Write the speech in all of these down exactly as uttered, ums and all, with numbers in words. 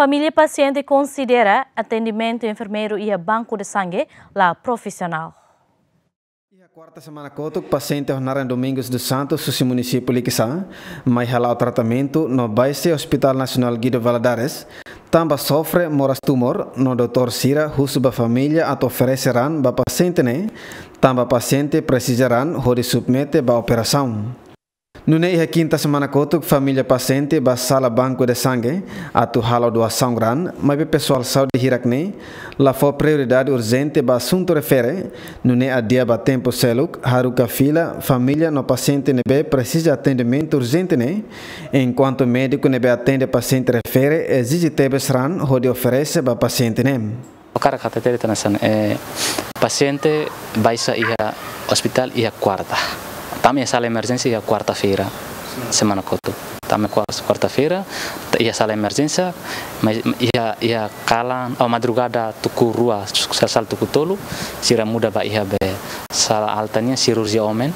Família pasiente konsidera atendimentu enfermeiru iha banku de sangue la profisionál. Iha kuarta semana kotuk, pasiente ho naran Domingos dos Santos, husi munisípiu Likisá, mai hala'o tratamentu no baixe Hospital Nasionál Guido Valadares, tanba sofre moras tumor, no doutór sira husu ba família atu oferese raan ba pasiente ne'e, tanba pasiente presiza raan hodi submete ba operasaun. Nune'e iha kinta semana kotuk, família pasiente ba sala banku de sangue atu halo doasaun raan, maibé pesoál saúde hirak ne'e la fó prioridade urjente ba asuntu refere, nune'e adia ba tempu seluk, haruka fila família no pasiente ne'ebé presiza atendimentu urjente ne'e, enkuantu médiku ne'ebé atende pasiente refere ezije tebes raan hodi oferese ba pasiente ne'e. Hakarak hatete de'it hanesan, eh, pasiente baixa iha ospitál iha kuarta. Tama iha sala emerjénsia iha kuarta-feira semana kotuk. Tama kuar-, kuarta-feira, iha sala emerjénsia, mai iha, iha kalan, oh, madrugada tuku rua, sasal tuku tolu, sira muda ba iha be sala alta nian sirurjia omen.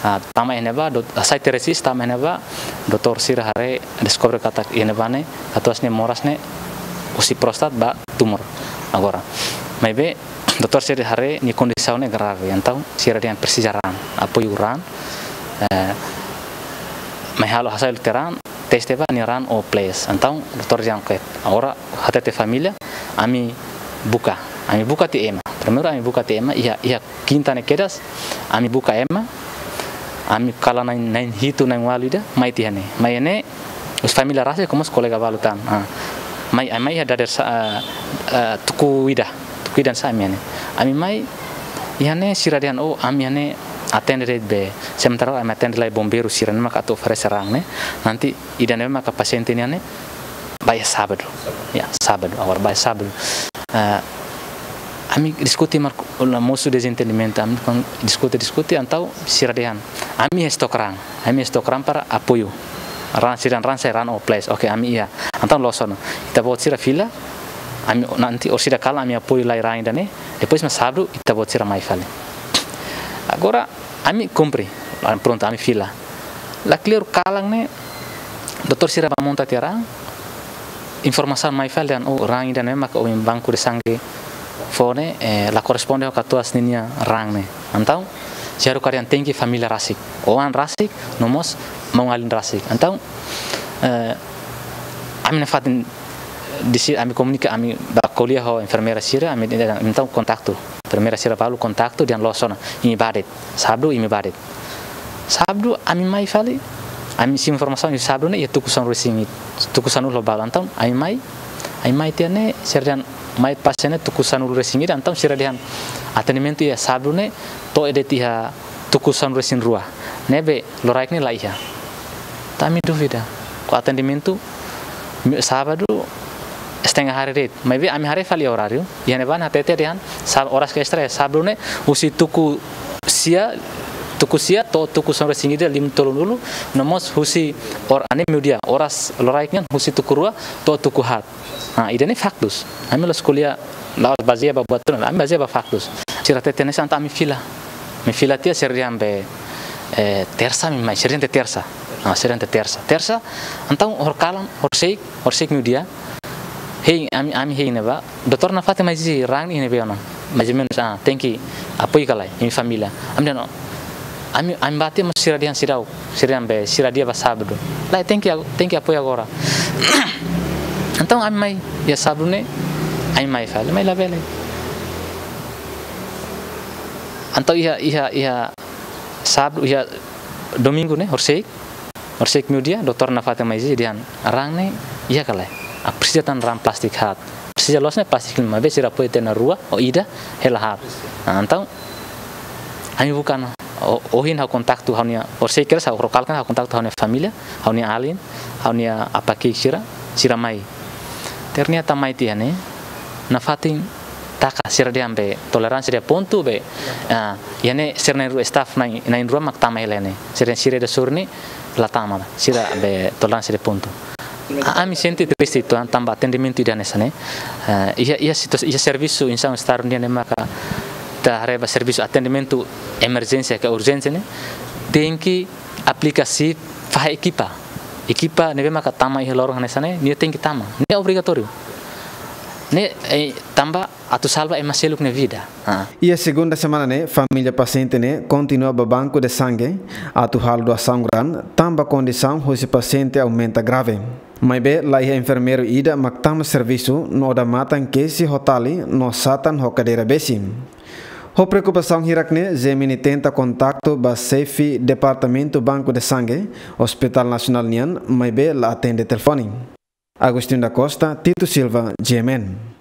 Ah, tama iha ne'ebá, dot-, ah, sai teresis, tama iha ne'ebá, doutór sira haree deskobre katak iha ne'ebá ne'e, katuas ne'e moras ne'e, husi prostat ba tumor. Agora, maibé, doutór sira haree nia kondisaun ne'e grave, entaun sira dehan presiza raan, apoiu raan, eh, mai halo hasai tiha raan, teste ba nia raan ou please. Entaun, doutór dehan oke, agora hatete família, ami buka, ami buka tiha ema. Primeiru ami buka tiha ema, iha, iha kinta ne'e kedas, ami buka ema, ami kalan na'in, na'in hitu na'in ualu ida, mai tiha ne'e. Mai ne'e, husi família rasik, komu kolega balu tan. Ah. Mai, mai iha dadeer sa-, ah, ah, tuku ida, tuku ida sá ami ne'e. Ami mai, iha ne'e sira dehan, oh, ami iha ne'e atende de'it be, sementara ami atende lai bombeiru sira ne'e maka atu oferese raan ne'e. Nanti ida ne'e maka pasiente nian ne'e, ba iha sábadu. Ya, sábadu, agora ba iha sábadu. Ah, ami diskute marka, la mosu dezentendimentu, ami kon-, diskute, diskute, entaun sira dehan. Ami iha estok raan, ami iha estok raan para apoiu. Raan sira raan sai raan ou please, oke, ami iha. Entaun loos ona. Ita-boot sira fila, ami nanti orsida kalan ami apoiu lai raan ida ne'e, depois mak sábadu ita-boot sira mai fali. Agora, ami kumpre, ah, prontu, ami fila. La kleur kalan ne'e, doutór sira ba monta tiha raan, informasaun mai fali dehan, oh, raan ida ne'e maka ohin banku de sangue fó ne'e, eh, la korresponde ho katuas ninia raan ne'e. Entaun, sira haruka dehan tenke família rasik. Oan rasik, no mós maun-alin rasik. Entaun, eh, ami nafatin desi ami komunika, ami ba ko'alia ho enfermeira sira, ami, entaun kontaktu. Enfermeira sira balu kontaktu dehan loos ona, imi bá de'it. Sábadu imi bá de'it. Sábadu ami mai fali, ami simu informasaun iha sábadu ne'e iha tuku sanulu-resin-ida, tuku sanulu ho balu. Entaun ami mai, ami mai tiha ne'e sira dehan mai pasiente ne'e tuku sanulu-resin-ida, entaun sira dehan atendimentu iha sábadu ne'e to'o de'it iha tuku sanulu-resin-rua. Ne'ebé loraik ne'e la iha. Entaun ami dúvida. Ho atendimentu, mi-, sábadu, setengah hari de'it. Maibé ami haree fali oráriu, iha ne'ebá ne'e hatete dehan, sá-, oras ke extra, sábadu ne'e, husi tuku sia, tuku sia, to'o tuku sanulu-resin-ida lima tolunulu, no mós husi or-, ne'e meiudia, oras loraik nian, husi tuku rua, to'o tuku haat. Ah, ida ne'e faktus. Ami la'ós ko'alia, la'ós bazeia ba buat ruma, ami bazeia ba faktus. Sira hatete hanesan, entaun ami fila. Ami fila tiha sira dehan be, eh, tersa ami mai, sira dehan tiha tersa. Ah, sira dehan tiha tersa. Tersa, entaun horikalan, horiseik, horiseik meiudia. Hein, ami, ami hein ne'ebá. Doutór nafatin mai ezije raan ne'e iha ne'ebé ona. Mais ou menus, ah, tenke apoiu ka lae, imi família. Ami dehan, ami, ami bá tiha mós sira dehan seidauk, sira dehan be, sira dehan ba sábadu. Lae, tenke, tenke apoiu agora. Entaun ami mai, iha sábadu ne'e, ami mai fali, mai labele. Entaun iha, iha, iha sábadu, iha domingu ne'e, horiseik, horiseik meiudia, doutór nafatin mai ezije dehan, raan ne'e iha ka lae. Ah, presiza tan raan plástiku haat. Presiza loos ne'e plástiku lima, maibé sira apoiu tiha ona rua, ou ida, hela haat. Ah, entaun, ami buka ona. O-, ohin ha'u kontaktu ha'u-nia, horiseik kedas ha'u, horikalan ha'u kontaktu ha'u-nia família, ha'u-nia alin, ha'u-nia apá ki'ik sira, sira mai. Ternyata mai tiha ne'e, nafatin taka sira dehan be, toleransia dehan pontu be, ah, iha ne'e sira na'in-rua staff na'in, na'in-rua mak tama hela ne'e. Sira, sira ida sorin ne'e, la tama, sira be toleransia dehan pontu. A-, ami sente triste uitoan tanba atendimentu ida hanesan ne'e. Eh, iha, iha situa-, iha servisu insan estadu nian ne'e maka ita haree ba servisu atendimentu emerjénsia ka urjénsia ne'e, tenke aplika sip fahe ekipa. Ekipa ne'ebé maka tama iha loron hanesan ne'e, nia tenke tama. Ne'e obrigatóriu. Ne'e, eh, tanba atu salva ema seluk nia vida. Ah. Iha segunda semana ne'e, família pasiente ne'e kontinua ba banku de sangue atu halo doasaun grande, tanba kondisaun husi pasiente aumenta grave. Maibé, laiha enfermeiru ida mak tama servisu no odamatan kesi ho tali no satan ho kadeira besi. Ho preokupasaun hirak ne'e, GMN tenta kontaktu ba xefe Departamentu Banku de Sangue, Hospital Nasionál nian, maibé la atende telefone. Agostinho da Costa, Tito Silva, GMN.